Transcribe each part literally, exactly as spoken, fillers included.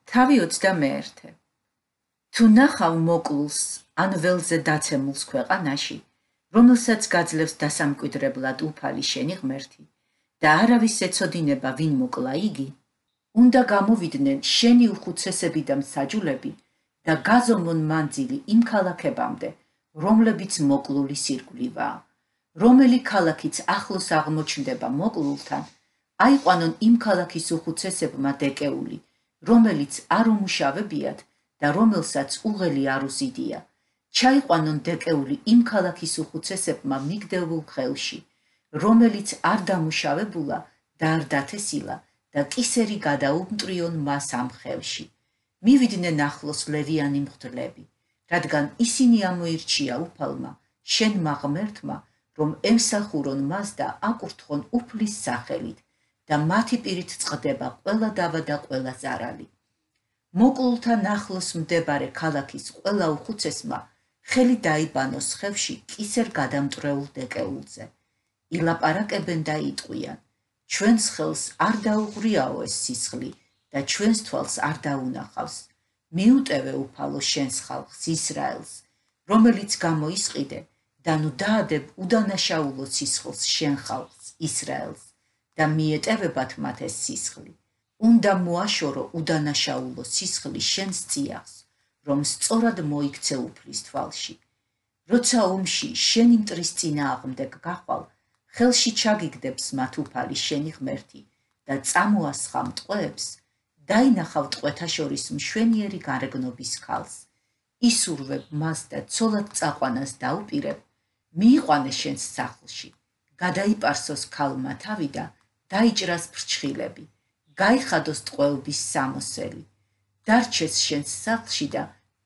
თავი ოცდამეერთე. თუ ნახავ მოკლულს ან ველზე დაცემულს ქვეყანაში, რომელსაც გაძლევს დასამკვიდრებლად უფალი შენი ღმერთი და არავის ეცოდინება ვინ მოკლა იგი, უნდა გამოვიდნენ შენი უხუცესები და მსაჯულები და გაზომონ მანძილი იმ ქალაქებამდე, რომლებიც მოკლულის ირგვლივაა, რომელი ქალაქიც ახლოს აღმოჩნდება მოკლულთან, აიყვანონ იმ ქალაქის უხუცესებმა დეკეული, რომელიც არ უმუშავებიათ და რომელსაც უღელი არ უზიდია, ჩაიყვანონ დეკეული იმ ქალაქის უხუცესებმა მიგდებულ ხელში, რომელიც არ დამუშავებულა და არ დათესილა და კისერი გადაუმტრიონ მას ამ ხელში. მივიდნენ ახლოს ლევიანი მღვდლები, რადგან ისინი ამოირჩია უფალმა, შენმა ღმერთმა, რომ ემსახურონ მას და აკურთხონ უფლის სახელით და მათი პირით წყდება ყველა დავა და ყველა ზარალი. მოკლულთან ახლოს მდებარე ქალაქის ყველა უხუცესმა ხელი დაიბანოს ხევში კისერ გადამტრეულ დეკეულზე. ილაპარაკებენ და იტყვიან, ჩვენს ხელს არ დაუღრიაო ეს სისხლი და ჩვენს თვალს არ დაუნახავს. მიუტევე უფალო შენს ხალხს ისრაელს, რომელიც გამოისყიდე და ნუ დაადებ უდანაშაულო სისხლს შენ ხალხს ისრაელს და მიეტევებათ მათ ეს სისხლი. უნდა მოაშორო უდანაშაულო სისხლი შენს წიაღს, რომ სწორად მოიქცე უფლის თვალში. როცა ომში შენი მტრის წინააღმდეგ გახვალ, ხელში ჩაგიგდებს მათ უფალი შენი ღმერთი და წამოასხა მტყვეებს, დაინახავ ტყვეთა შორის მშვენიერი გარეგნობის ქალს. ისურვებ მას და ცოლად წაყვანას დაუპირებ, მიიყვანე შენს სახლში, გადაიპარსოს ქალმა თავი და დაიჭრას ფრჩხილები, გაიხადოს ტყვეობის სამოსელი, დარჩეს შენს სახლში და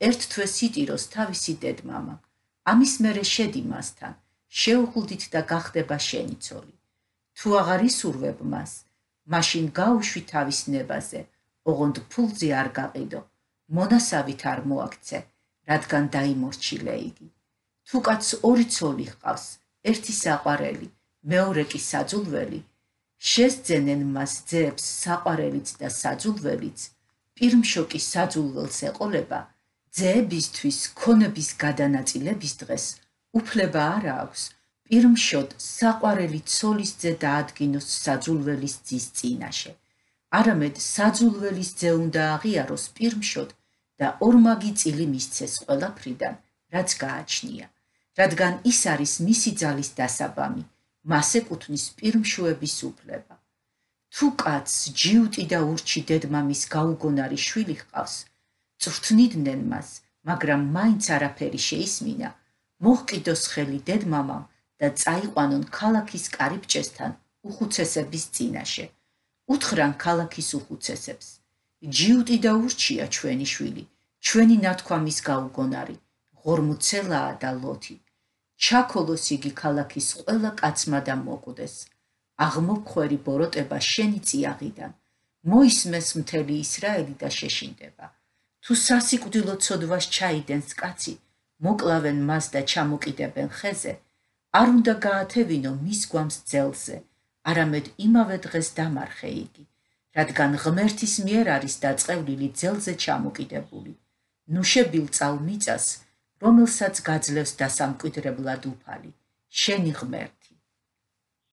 ერთ თვეს იტიროს თავისი დედმამა. ამის მერე შედი მასთან, შეუხლდით და გახდება შენი ცოლი. თუ აღარ ისურვებ მას, მაშინ გაუშვი თავის ნებაზე, ოღონდ ფულზე არ გაყიდო, მონასავით არ მოაქცე, რადგან დაიმორჩილე იგი. თუ კაცს ორი ცოლი ჰყავს, ერთი საყვარელი, მეორე კი საძულველი, შესძენენ მას ძეებს საყვარელიც და საძულველიც, პირმშოკი საძულველს ეყოლება, ძეებისთვის ქონების გადანაწილების დღეს უფლება არ აქვს, პირმშოდ საყვარელი ცოლის ძე დაადგინოს საძულველის ძის წინაშე. არამედ საძულველის ძე უნდა აღიაროს პირმშოდ და ორმაგი წილი მისცეს ყველაფრიდან, რაც გააჩნია, რადგან ის არის მისი ძალის დასაბამი, მას ეკუთვნის პირმშოების უფლება. თუ კაცს ჯიუტი და ურჩი დედმამის გაუგონარი შვილი ჰყავს, წვრთნიდნენ მას, მაგრამ მაინც არაფერი შეისმინა, მოჰყიდოს ხელი დედმამამ და წაიყვანონ ქალაქის კარიბჭესთან უხუცესების წინაშე. უთხრან ქალაქის უხუცესებს, ჯიუტი და ურჩია ჩვენი შვილი, ჩვენი ნათქვამის გაუგონარი, ღორმუცელაა და ლოთი. ჩაქოლოს იგი ქალაქის ყველა კაცმა და მოკვდეს. აღმოფხვერი ბოროტება შენი წიაღიდან, მოისმეს მთელი ისრაელი და შეშინდება. თუ სასიკვდილო ცოდვას ჩაიდენს კაცი, მოკლავენ მას და ჩამოკიდებენ ხეზე, არ უნდა გაათევინო მის გვამს ძელზე, არამედ იმავე დღეს დამარხე იგი, რადგან ღმერთის მიერ არის დაწყევლილი ძელზე ჩამოკიდებული. ნუ შებილწალ მიწას, რომელსაც გაძლევს დასამკვიდრებლად უფალი, შენი ღმერთი.